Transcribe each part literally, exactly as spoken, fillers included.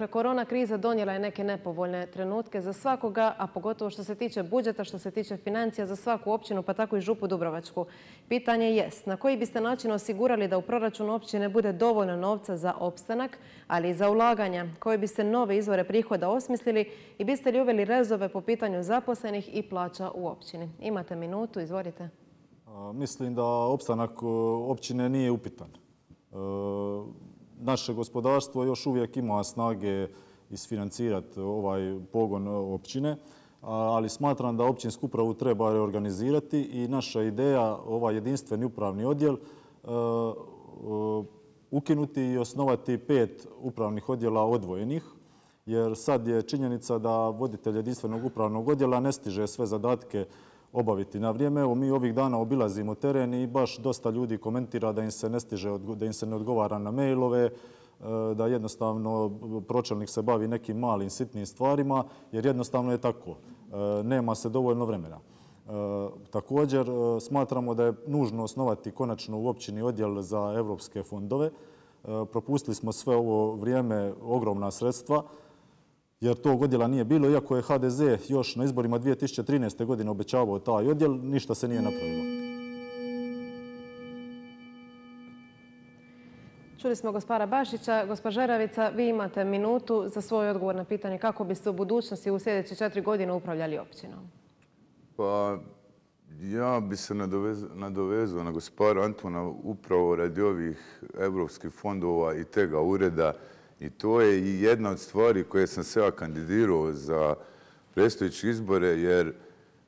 Korona kriza donijela je neke nepovoljne trenutke za svakoga, a pogotovo što se tiče budžeta, što se tiče financija za svaku općinu, pa tako i Župu Dubrovačku. Pitanje jest na koji biste način osigurali da u proračunu općine bude dovoljno novca za opstanak, ali i za ulaganja, koje biste nove izvore prihoda osmislili i biste li uveli rezove po pitanju zaposlenih i plaća u općini? Imate minutu, izvolite. Mislim da opstanak općine nije upitan. Naše gospodarstvo još uvijek ima snage isfinancirati ovaj pogon općine, ali smatram da općinsku upravu treba reorganizirati i naša ideja, ovaj jedinstveni upravni odjel, ukinuti i osnovati pet upravnih odjela odvojenih, jer sad je činjenica da voditelj jedinstvenog upravnog odjela ne stiže sve zadatke obaviti na vrijeme. Evo, mi ovih dana obilazimo teren i baš dosta ljudi komentira da im se ne stiže, da im se ne odgovara na mailove, da jednostavno pročelnik se bavi nekim malim sitnim stvarima, jer jednostavno je tako. Nema se dovoljno vremena. Također smatramo da je nužno osnovati konačno u općini odjel za evropske fondove. Propustili smo sve ovo vrijeme ogromna sredstva, jer tog odjela nije bilo, iako je ha de ze još na izborima dvije tisuće trinaeste. godine obećavao taj odjel, ništa se nije napravilo. Čuli smo gospara Bašića. Gospa Žeravica, vi imate minutu za svoj odgovor na pitanje kako biste u budućnosti u sljedeće četiri godine upravljali općinom. Pa, ja bi se nadovezao na gospara Antuna upravo radi ovih evropskih fondova i tega ureda. I to je i jedna od stvari koje sam se ja kandidirao za predstojeće izbore, jer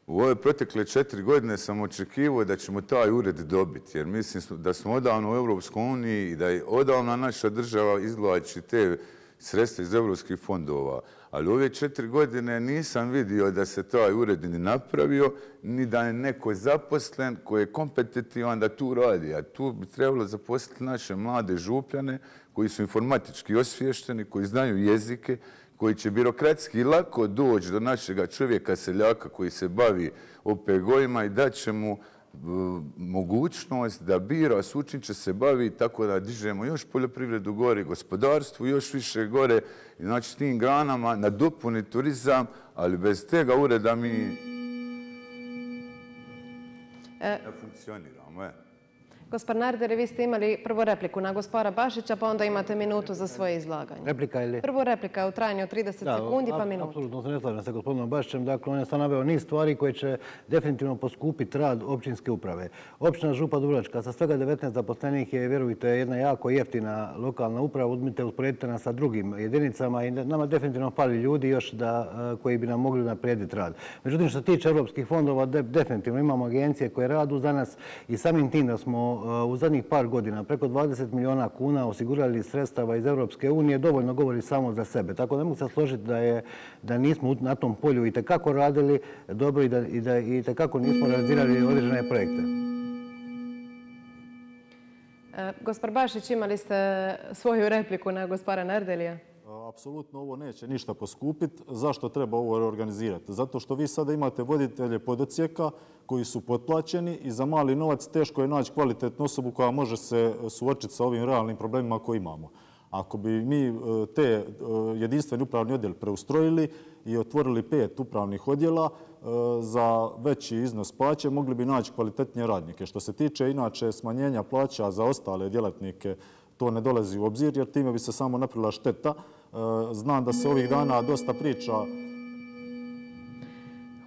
u ove protekle četiri godine sam očekivao da ćemo taj ured dobiti, jer mislim da smo odavno u Europskoj uniji i da je odavno naša država izvlači te sredstva iz evropskih fondova. Ali ove četiri godine nisam vidio da se taj ured ni napravio, ni da je neko zaposlen koji je kompetitivan da tu radi. A tu bi trebalo zaposliti naše mlade župljane koji su informatički osviješteni, koji znaju jezike, koji će birokratski lako doći do našega čovjeka, seljaka koji se bavi o pe ge ovima i da će mu mogućnost da bira s učin će se bavi tako da dižemo još poljoprivredu gore, gospodarstvu još više gore, znači tim granama nadopuni turizam, ali bez tega ureda mi ne funkcioniramo. Gospar Nardeli, vi ste imali prvo repliku na gospara Bašića, pa onda imate minutu za svoje izlaganje. Replika ili? Prvo replika je u trajanju od trideset sekundi, pa minutu. Apsolutno se ne slažem sa gospodinom Bašićem. Dakle, on je sad naveo niz stvari koje će definitivno poskupiti rad općinske uprave. Općina Župa Dubrovačka sa svega devetnaest zaposlenih je, vjerujte, jedna jako jeftina lokalna uprava. Uzmite, usporedite nas sa drugim jedinicama i nama definitivno fali ljudi još koji bi nam mogli naprijediti rad. Međutim, što se tiče europskih fondova, definitivno imamo agencije koje radu za nas i samim tim da smo u zadnjih par godina preko dvadeset milijuna kuna osigurali sredstava iz Europske unije, dovoljno govori samo za sebe. Tako da mogu se složiti da, je, da nismo na tom polju i tekako radili dobro i da, i da i tekako nismo realizirali određene projekte. E, gospar Bašić, imali ste svoju repliku na gospara Nardelija? Apsolutno ovo neće ništa poskupiti. Zašto treba ovo reorganizirati? Zato što vi sada imate voditelje podocijeka koji su potplaćeni i za mali novac teško je naći kvalitetnu osobu koja može se suočiti sa ovim realnim problemima koje imamo. Ako bi mi te jedinstveni upravni odjel preustrojili i otvorili pet upravnih odjela za veći iznos plaće, mogli bi naći kvalitetnije radnike. Što se tiče inače smanjenja plaća za ostale djelatnike, to ne dolazi u obzir jer time bi se samo napravila šteta. Znam da se ovih dana dosta priča.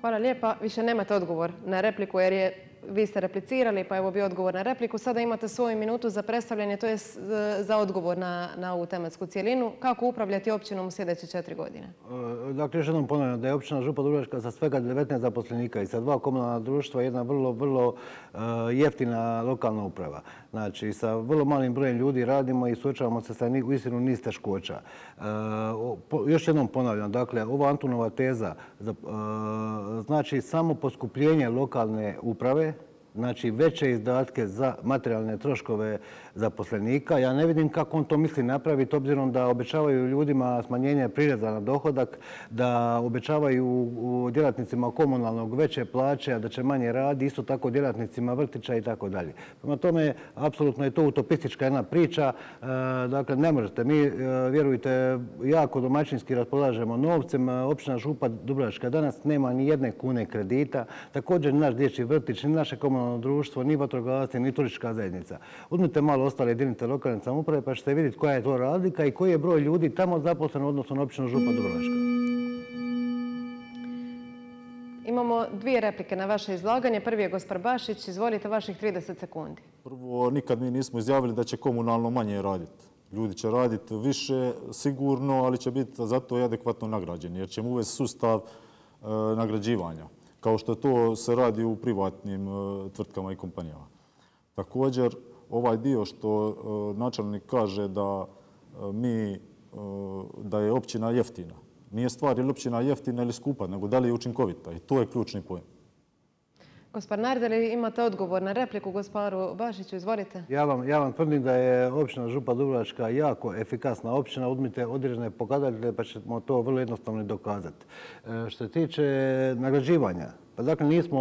Hvala lijepa. Više nemate odgovor na repliku jer je, vi ste replicirali, pa evo bi odgovor na repliku. Sada imate svoju minutu za predstavljanje, to je za odgovor na, na ovu tematsku cijelinu. Kako upravljati općinom u sljedeće četiri godine? Dakle, još jednom ponavljam da je općina Župa Dubrovačka sa svega devetnaest zaposlenika i sa dva komunalna društva jedna vrlo, vrlo uh, jeftina lokalna uprava. Znači, sa vrlo malim brojem ljudi radimo i suočavamo se sa uistinu niz teškoća. Uh, po, još jednom ponavljam, dakle, ova Antunova teza uh, znači samo poskupljenje lokalne uprave znači veće izdatke za materijalne troškove zaposlenika. Ja ne vidim kako on to misli napraviti, obzirom da obećavaju ljudima smanjenje prireza na dohodak, da obećavaju djelatnicima komunalnog veće plaće, a da će manje radi, isto tako djelatnicima vrtića i tako dalje. Prema tome, apsolutno je to utopistička jedna priča. Dakle, ne možete. Mi, vjerujte, jako domaćinski raspolažemo novcem. Općina Župa Dubrovačka danas nema ni jedne kune kredita. Također, ni naš dječji vrtić, ni naše komunalno društvo, ni vatrogasci, ni turistička zajednica. Uzmite malo ostale jedinice lokalne samouprave pa ćete vidjeti koja je to razlika i koji je broj ljudi tamo zaposlen u odnosu na općinu Župa Dubrovačka. Imamo dvije replike na vaše izlaganje. Prvi je gospar Bašić. Izvolite, vaših trideset sekundi. Prvo, nikad mi nismo izjavili da će komunalno manje raditi. Ljudi će raditi više, sigurno, ali će biti zato i adekvatno nagrađeni, jer ćemo uvesti sustav e, nagrađivanja, kao što to se radi u privatnim e, tvrtkama i kompanijama. Također, ovaj dio što e, načelnik kaže da e, mi, e, da je općina jeftina. Nije stvar je li općina jeftina ili skupa, nego da li je učinkovita i to je ključni pojem. Gospar Nardeli, imate odgovor na repliku gosparu Bašiću, izvolite. Ja vam, ja vam tvrdim da je općina Župa Dubrovačka jako efikasna općina. Uzmite određene pokazatelje pa ćemo to vrlo jednostavno dokazati. E, što se tiče nagrađivanja, pa dakle nismo,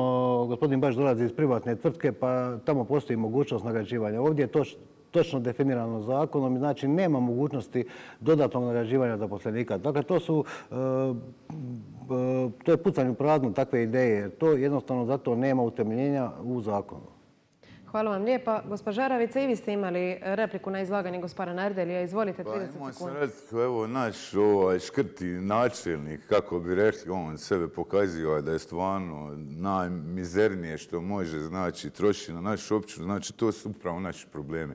gospodin Baš dolazi iz privatne tvrtke pa tamo postoji mogućnost nagrađivanja. Ovdje je to točno definirano zakonom i znači nema mogućnosti dodatnog nagrađivanja zaposlenika. Dakle, to su, to je pucanje u prazno takve ideje. To jednostavno zato nema utemeljenja u zakonu. Hvala vam lijepa. Gospa Žaravica, i vi ste imali repliku na izlaganje gospara Nardelija. Izvolite, trideset sekundi. Pa imao sam reći, evo naš ovaj, škrti načelnik, kako bi rekli, on sebe pokazio da je stvarno najmizernije što može, znači troši na našu općinu, znači to su upravo naši problemi.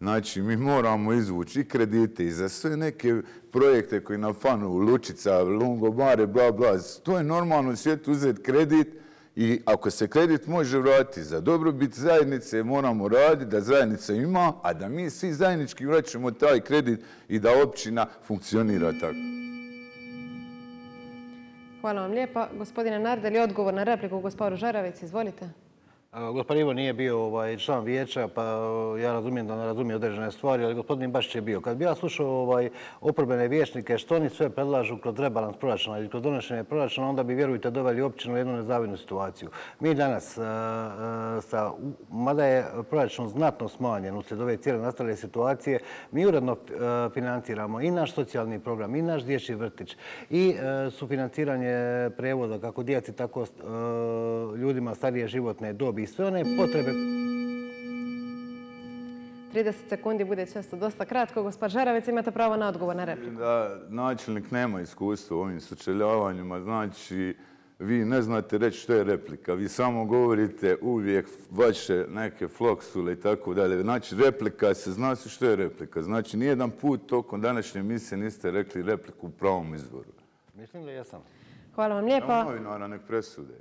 Znači, mi moramo izvući i kredite i za sve neke projekte koji nam fanu, Lučica, Lungomare, bla, bla. To je normalno u svijetu uzeti kredit i ako se kredit može vratiti za dobrobit zajednice, moramo raditi da zajednica ima, a da mi svi zajednički vraćamo taj kredit i da općina funkcionira tako. Hvala vam lijepa. Gospodine Nardeli, odgovor na repliku gosparu Žaravici, izvolite. Gospodin Ivo nije bio ovaj, član vijeća, pa ja razumijem da ne razumije određene stvari, ali gospodin Bašić je bio. Kad bi ja slušao ovaj, oporbene vijećnike što oni sve predlažu kroz rebalans proračuna ili kroz donošenje proračuna, onda bi, vjerujte, doveli općinu u jednu nezavidnu situaciju. Mi danas, a, a, sa, mada je proračun znatno smanjen uslijed ove cijele nastale situacije, mi uredno a, financiramo i naš socijalni program, i naš dječji vrtić, i a, sufinanciranje prevoza kako djeci, tako a, ljudima starije životne dobi i sve one potrebe. trideset sekundi bude često dosta kratko. Gospar Žaravic, imate pravo na odgovor na repliku. Da, načelnik nema iskustva u ovim sučeljavanjima, znači vi ne znate reći što je replika. Vi samo govorite uvijek vaše neke floksule i tako dalje. Znači, replika se zna se što je replika. Znači, nijedan put tokom današnje emisije niste rekli repliku u pravom izvoru. Mislim da jesam. Hvala vam lijepa. Novinara nek presude.